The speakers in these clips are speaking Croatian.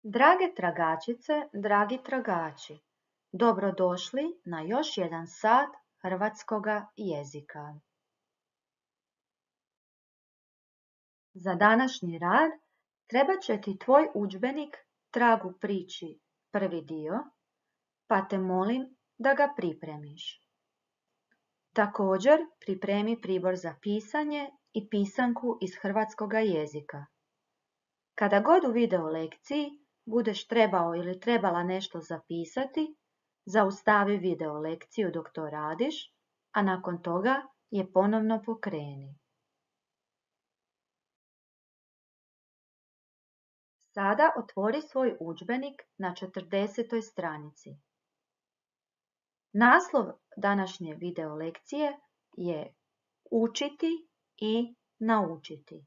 Drage tragačice, dragi tragači, dobrodošli na još jedan sat hrvatskoga jezika. Za današnji rad trebat će ti tvoj udžbenik Trag u priči prvi dio, pa te molim da ga pripremiš. Također pripremi pribor za pisanje i pisanku iz hrvatskoga jezika. Kada god u video lekciji budeš trebao ili trebala nešto zapisati, zaustavi video lekciju dok to radiš, a nakon toga je ponovno pokreni. Sada otvori svoj udžbenik na 40. stranici. Naslov današnje video lekcije je Učiti i naučiti.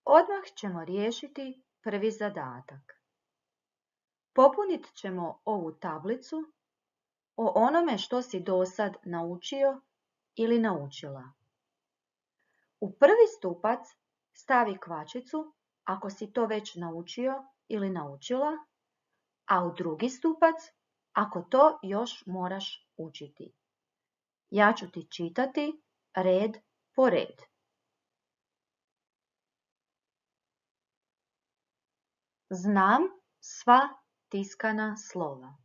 Odmah ćemo riješiti prvi zadatak. Popunit ćemo ovu tablicu o onome što si dosad naučio ili naučila. U prvi stupac stavi kvačicu ako si to već naučio ili naučila, a u drugi stupac ako to još moraš učiti. Ja ću ti čitati red po red. Znam sva tiskana slova.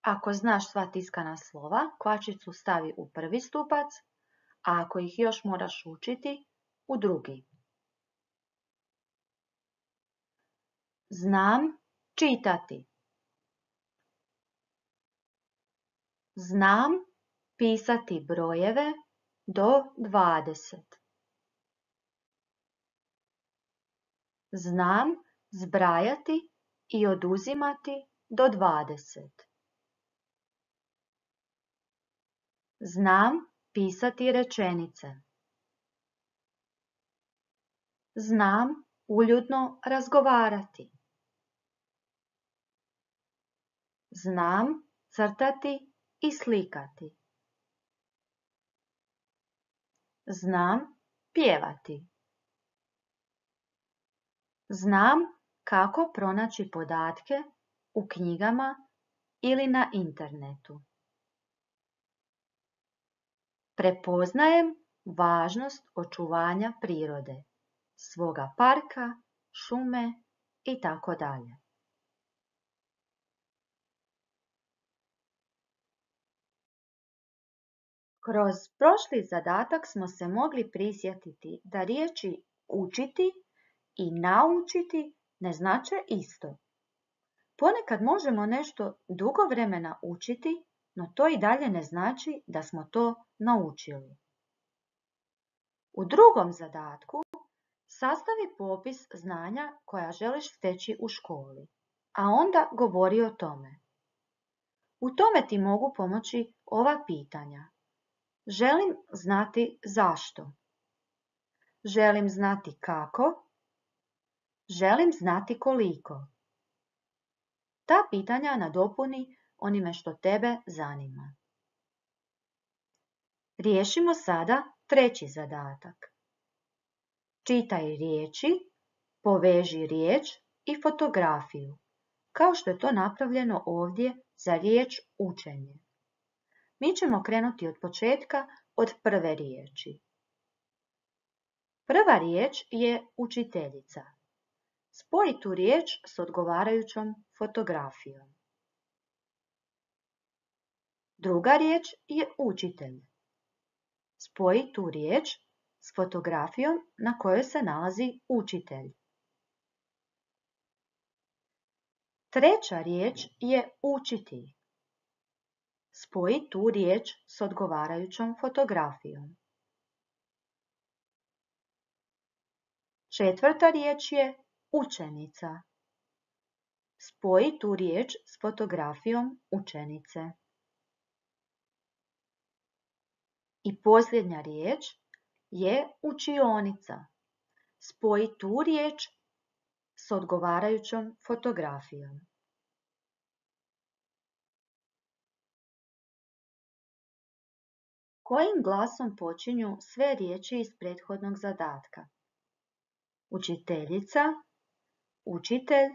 Ako znaš sva tiskana slova, kvačicu stavi u prvi stupac, a ako ih još moraš učiti, u drugi. Znam čitati. Znam pisati brojeve do 20. Znam zbrajati i oduzimati do 20. Znam pisati rečenice. Znam uljudno razgovarati. Znam crtati i slikati. Znam pjevati. Znam kako pronaći podatke u knjigama ili na internetu. Prepoznajem važnost očuvanja prirode, svoga parka, šume i tako dalje. Kroz prošli zadatak smo se mogli prisjetiti da riječi učiti i naučiti ne znače isto. Ponekad možemo nešto dugo vremena učiti, no to i dalje ne znači da smo to naučili. U drugom zadatku sastavi popis znanja koja želiš steći u školi, a onda govori o tome. U tome ti mogu pomoći ova pitanja. Želim znati zašto. Želim znati kako. Želim znati koliko. Ta pitanja nadopuni onime što tebe zanima. Riješimo sada treći zadatak. Čitaj riječi, poveži riječ i fotografiju, kao što je to napravljeno ovdje za riječ učenje. Mi ćemo krenuti od početka, od prve riječi. Prva riječ je učiteljica. Spoji tu riječ s odgovarajućom fotografijom. Druga riječ je učitelj. Spoji tu riječ s fotografijom na kojoj se nalazi učitelj. Treća riječ je učiti. Spoji tu riječ s odgovarajućom fotografijom. Četvrta riječ je učenica. Spoji tu riječ s fotografijom učenice. I posljednja riječ je učionica. Spoji tu riječ s odgovarajućom fotografijom. Kojim glasom počinju sve riječi iz prethodnog zadatka? Učiteljica, učitelj,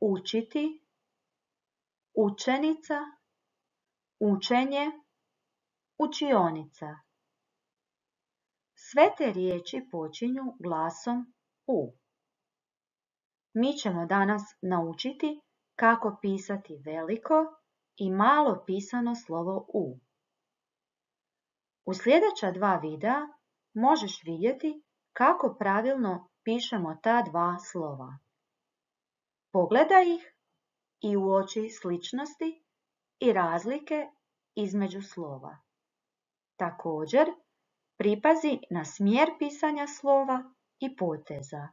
učiti, učenica, učenje, učionica. Sve te riječi počinju glasom U. Mi ćemo danas naučiti kako pisati veliko i malo pisano slovo U. U sljedeća 2 videa možeš vidjeti kako pravilno pišemo ta 2 slova. Pogledaj ih i uoči sličnosti i razlike između slova. Također, pripazi na smjer pisanja slova i poteza.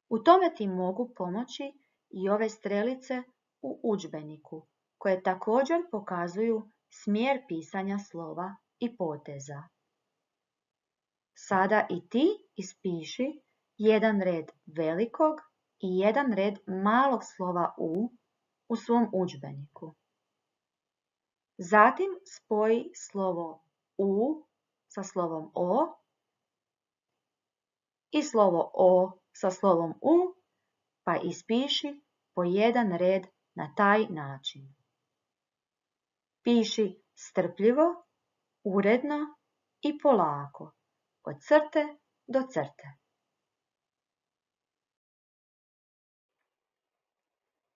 U tome ti mogu pomoći i ove strelice u udžbeniku, koje također pokazuju smjer pisanja slova i poteza. Sada i ti ispiši jedan red velikog i jedan red malog slova u svom udžbeniku. Zatim spoji slovo U sa slovom O i slovo O sa slovom U, pa ispiši po jedan red na taj način. Piši strpljivo, uredno i polako, od crte do crte.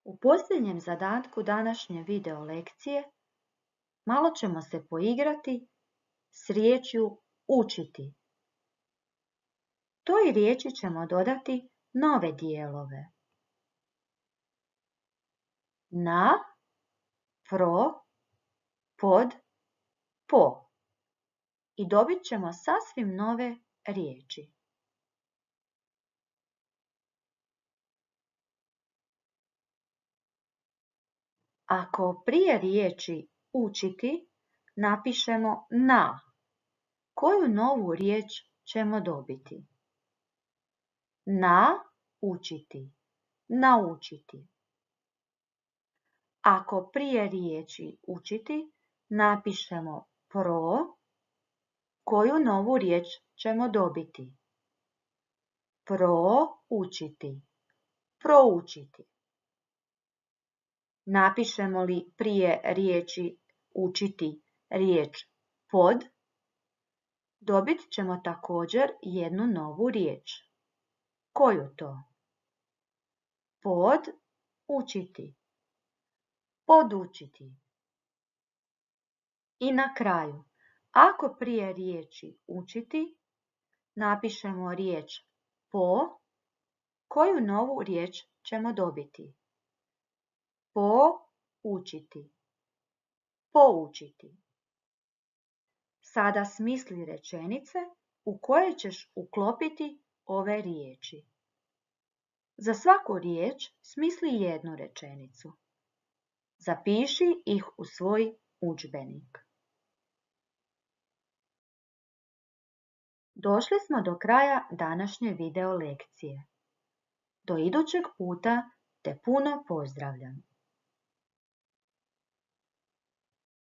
U posljednjem zadatku današnje video lekcije malo ćemo se poigrati s riječju učiti. Toj riječi ćemo dodati nove dijelove. Na, pro, pod, po. I dobit ćemo sasvim nove riječi. Ako prije riječi učiti napišemo na, koju novu riječ ćemo dobiti? Na učiti, naučiti. Ako prije riječi učiti napišemo pro, koju novu riječ ćemo dobiti? Proučiti, proučiti. Napišemo li prije riječi učiti riječ pod, dobit ćemo također jednu novu riječ. Koju to? Pod učiti, podučiti. I na kraju, ako prije riječi učiti napišemo riječ po, koju novu riječ ćemo dobiti? Poučiti, poučiti. Sada smisli rečenice u koje ćeš uklopiti ove riječi. Za svaku riječ smisli jednu rečenicu. Zapiši ih u svoj udžbenik. Došli smo do kraja današnje video lekcije. Do idućeg puta te puno pozdravljam.